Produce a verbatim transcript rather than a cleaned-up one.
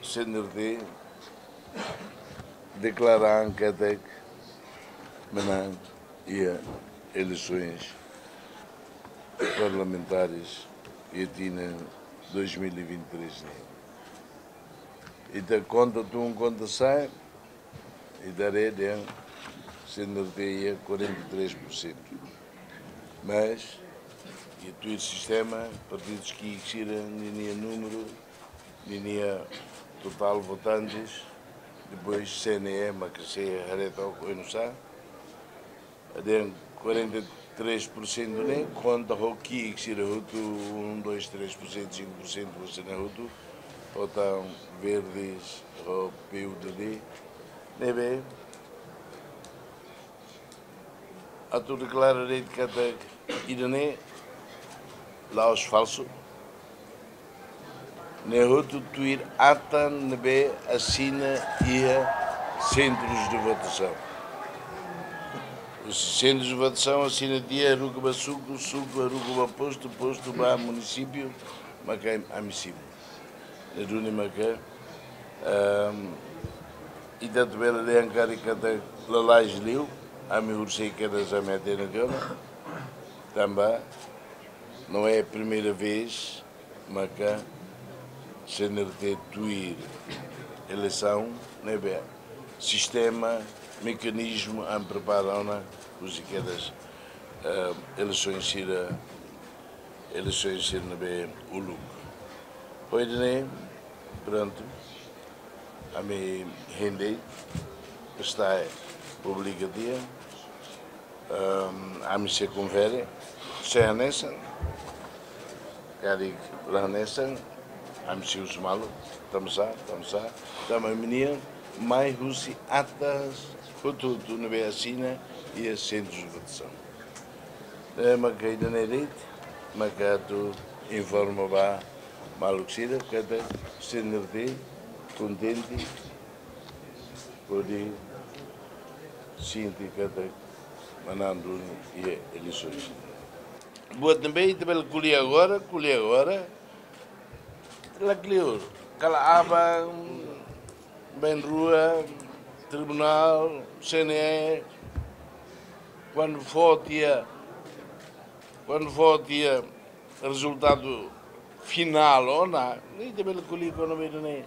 C N R T deklara katak menang iha eleisoens parlamentares iha tinan dois mil e vinte e três ne'e. Ita konta tun, konta sa'e, ita haree dehan C N R T iha quarenta e três por cento. Mas, iha tuir sistema, partidu ki'ik sira ninia númeru, ninia totál votantes, depois C N E, mak sei haree took oinsá, dehan quarenta e três por cento ne'e, konta ho ki'ik sira hotu, um, dois, três por cento, cinco por cento, você ne'e hotu, ho tan Verdes, ho P U D D, ne'ebé, atu deklara de'it katak ida-ne'e la'ós falsu. Ne'e hotu tuir ata ne'ebé asina iha sentrus de votasaun. Os centros de votação asina tiha, haruka ba suku, suku haruka ba postu, postu ba munisípiu, maka ami simu. Ne'e duni maka, ehm, ita atu bele dehan karik katak lalais liu, ami horisehik kedas ami hatene tiha ona. Tanba, não é a primeira vez maka C N R T tuir eleisaun, ne'ebé sistema, mekanizmu ami prepara ona, husi kedas, eh, eleisoens sira, eleisoens sira ne'ebé uluk. Ho ida-ne'e, prontu, ami hein de'it, está publika tiha, ehm, ami sei konfere, se hanesan, karik la hanesan, ami sei husu malu, tanba sá, tanba sá, tanba ami-nian mai husi atas hotu-hotu ne'ebé asina iha sentrus de votasaun. Eh, maka ida-ne'e de'it, maka atu informa ba maluk sira, katak C N R T kontente, hodi sente katak manán duni iha eleisoens. Buat ne'ebé ita bele ko'alia agora, ko'alia agora, la kleur, kala aban, bá rua, tribunál, C N E, kuandu fó tiha, kuandu fó tiha rezultadu finál ona, ne'e ita bele ko'alia kona-ba ida-ne'e.